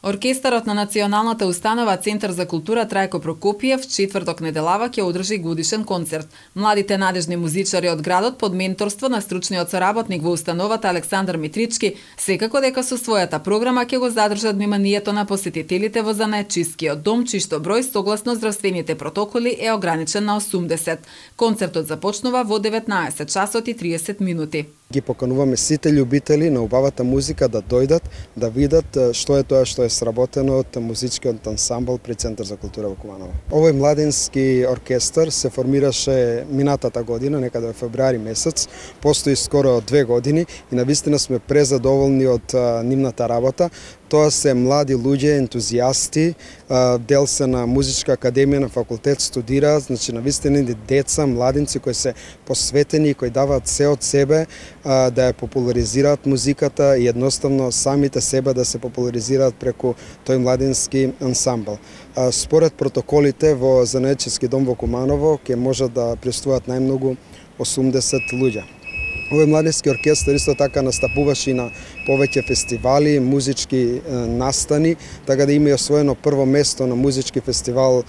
Оркестарот на Националната установа Центар за култура Трајко Прокопиев четврток неделава ќе одржи годишен концерт. Младите надежни музичари од градот под менторство на стручниот соработник во установата Александар Митрички секако дека со својата програма ќе го задржат вниманието на посетителите во занаетчискиот дом, чишто број согласно здравствените протоколи е ограничен на 80. Концертот започнува во 19 часот и 30 минути. Ги покануваме сите љубители на убавата музика да дојдат, да видат што е тоа што е сработено од музичкиот ансамбл при Центар за култура во Куманово. Овој младински оркестар се формираше минатата година, некаде во февруари месец, постои скоро 2 години и навистина сме презадоволни од нивната работа. Тоа се млади луѓе, ентузијасти, дел се на музичка академија на факултет студираат, значи навистина деца, младинци кои се посветени, кои даваат се од себе да ја популаризираат музиката и едноставно самите себе да се популаризираат преку тој младински ансамбл. Според протоколите во занаетчиски дом во Куманово ќе можат да присуствуваат најмногу 80 луѓе. Овој младински оркестар исто така настапуваше и на повеќе фестивали, музички настани, така да има и освоено прво место на музички фестивал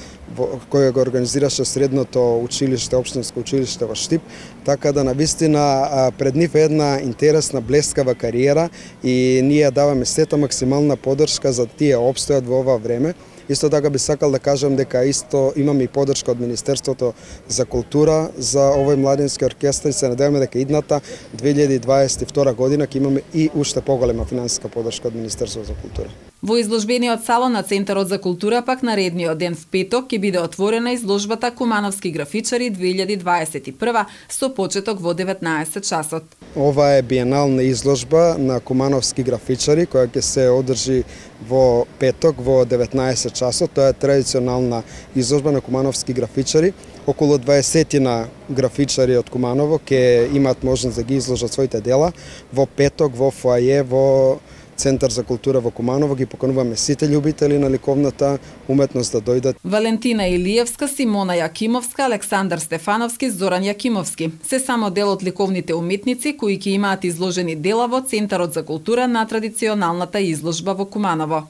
кој го организираше средното училиште, општинско училиште во Штип, така да навистина пред нив е една интересна, блескава кариера и ние даваме сета максимална поддршка за тие опстојат во ова време. Исто така би сакал да кажам дека исто имаме и поддршка од Министерството за култура за овој младински оркестар и се надеваме дека идната 2022 година ќе имаме и уште поголема финансиска поддршка од Министерството за култура. Во изложбениот салон на Центарот за култура пак наредниот ден в петок ќе биде отворена изложбата Кумановски графичари 2021 со почеток во 19 часот. Ова е биенална изложба на кумановски графичари која ќе се одржи во петок во 19 часот. Тоа е традиционална изложба на кумановски графичари. Околу 20 графичари од Куманово ќе имаат можност да ги изложат своите дела во петок во фоае во Центар за култура во Куманово. Ги покануваме сите љубители на ликовната уметност да дојдат. Валентина Илиевска, Симона Јакимовска, Александар Стефановски, Зоран Јакимовски се само дел од ликовните уметници кои ќе имаат изложени дела во Центарот за култура на традиционалната изложба во Куманово.